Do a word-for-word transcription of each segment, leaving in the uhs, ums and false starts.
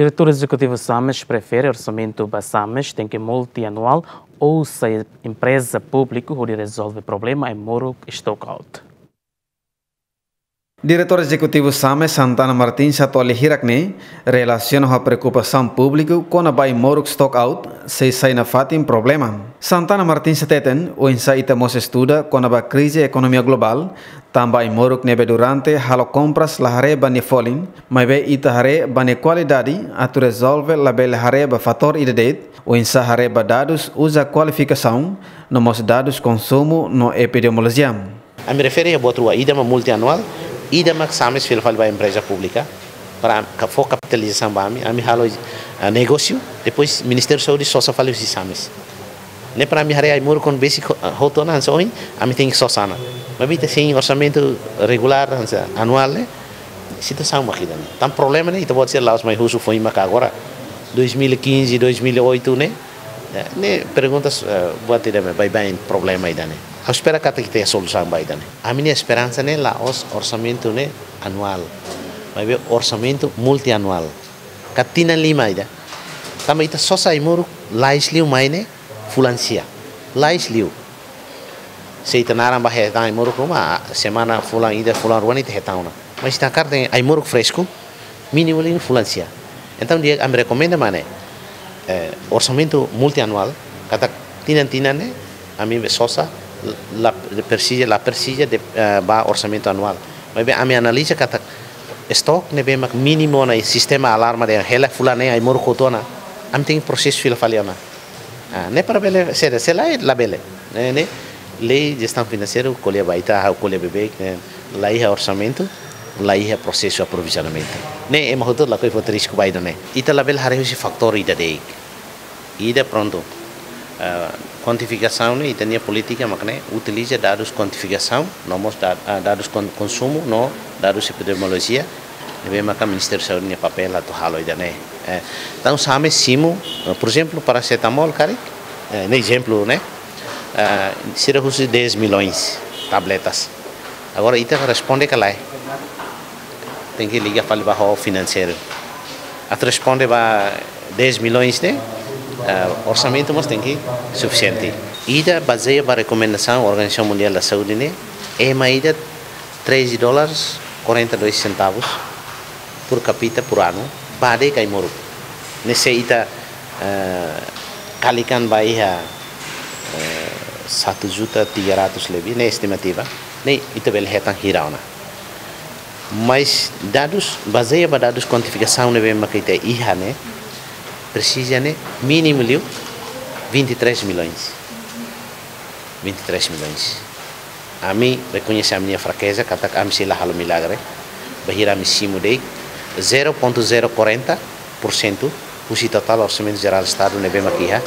Diretór Ezekutivu SAMES prefere orsamentu ba SAMES tenke multianuál ou sai empreza públiku hodi rezolve problema ai-moruk stock out. Diretór Ezekutivu SAMES Santana Martins atu hili hirak ne'e relasiona ho preokupasaun públiku kona-ba ai-moruk stock out sei sai nafatin problema. Santana Martins hateten, oinsá ita mós estuda kona-ba krize ekonomia globál, tanba ai-moruk ne'ebé durante halo kompras la haree ba nia folin, maibé ita haree ba nia kualidade atu rezolve labele haree ba fatór ida de'it, oinsá haree ba dadus uza kualifikasaun, no mós dadus konsumu no epidemiolojia. Ami refere iha buat rua, ida mak multianuál, ida mak SAMES fila fali ba empreza públika, para ka-, fó kapitalizasaun ba ami, ami halo, ah, negósiu, depois Ministériu Saúde sosa fali husi SAMES. Ne'e para ami haree ai-moruk kon besi ko-, ah, hotu ona hanesan ohin, ami tenke sosa ona. Maibé ita sein orsamentu regulár hanesan anuál ne'e, situasaun mak ida-ne'e. Tan problema ne'e, ita-boot sira la'ós mai husu foin maka agora, dois mil e quinze, dois mil e oito ne'e, eh, ne'e perguntas, eh, buat ida ne'ebé baibain problema ida-ne'e. Ha'u espera katak ita iha solusaun ba ida-ne'e. Ami-nia esperansa ne'e la'ós orsamentu ne'e anuál, maibé orsamentu multianuál. Ka tinan lima ida. Tanba ita sosa ai-moruk lais liu mai ne'e fulan sia. Lais liu. Se ita naran ba hetan ai-moruk ruma, semana fulan ida, fulan rua ne'e ita hetan ona. Mas ita hakarak dehan ai-moruk fresku, mínimu liu fulan sia. Entaun, di'ak ami rekomenda mak ne'e, eh, orsamentu multianuál, katak tinan-tinan ne'e, ami be sosa, la presiza, la presiza de, eh, ba orsamentu anuál. Maibé ami analiza katak stock ne'ebé mak mínimu ona iha sistema alarma dehan hela fulan ne'e ai-moruk hotu ona, ami tenke prosesu fila fali ona. Ah, ne'e para bele, se, se lae, labele. Ne'e, ne'e, lei jestaun finanseira ko'alia ba ita, ha'u ko'alia beibeik, ne'e, la iha orsamentu, la iha prosesu aprovizionamentu. Ne'e, ema hotu lakohi foti risku ba ida-ne'e. Ita labele haree husi fatór ida de'it. Ida prontu. Ah, kuantifikasaun ne'e, ita-nia polítika mak ne'e, utiliza dadus kuantifikasaun, no mós da-, ah, dadus kon-, konsumu, no dadus epidemiolojia, ne'ebé maka Ministériu Saúde nia papél atu halo ida-ne'e. Eh, entaun SAMES simu, eh, por ezemplu, parasetamol karik, eh, ne'e ezemplu, ne'e, eh, sira husu dez milhões tabletas. Agora, ita responde ka lae? Tenke liga fali ba ho finanseiru. Atu responde ba dez milhões ne'e, eh, orsamentu mós tenke sufisiente. Ida bazeia ba rekomendasaun Organizasaun Mundiál da Saúde ne'e, ema ida treze dólares quarenta e dois centavos por capita por ano, ba de'it ai-moruk. Ne'e se ita, eh, kalikan ba iha, eh, satu juta tiga ratus lebih, ne'e estimativa, ne'e ita bele hetan hira ona. Mas dadus, bazeia ba dadus kuantifikasaun ne'ebé maka ita iha ne'e, presiza ne'e mínimu liu vinte e três milhões. Vinte e três milhões. Ami rekoñese ami-nia frakeza, katak ami sei la halo milagre, bainhira ami simu de'it zero ponto zero quarenta por cento husi totál orsamentu jerál Estadu ne'ebé mak iha,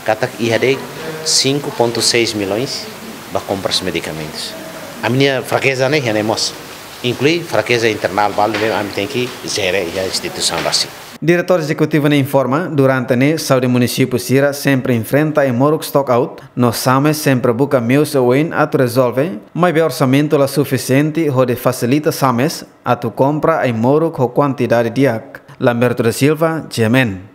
katak iha de'it cinco ponto seis milhões ba kompras medikamentus. Ami-nia frakeza ne'e iha ne'e mós, inklui frakeza internál balu ne'ebé ami tenke jere iha instituisaun rasik. Diretór Ezekutivu ne'e informa, durante ne'e saúde munisípiu sira sempre enfrenta ai-moruk stock out, no SAMES sempre buka meius oioin atu rezolve, maibé orsamentu la sufisiente hodi fasilita SAMES atu kompra ai-moruk ho kuantidade di'ak. Lamberto da Silva, G M N.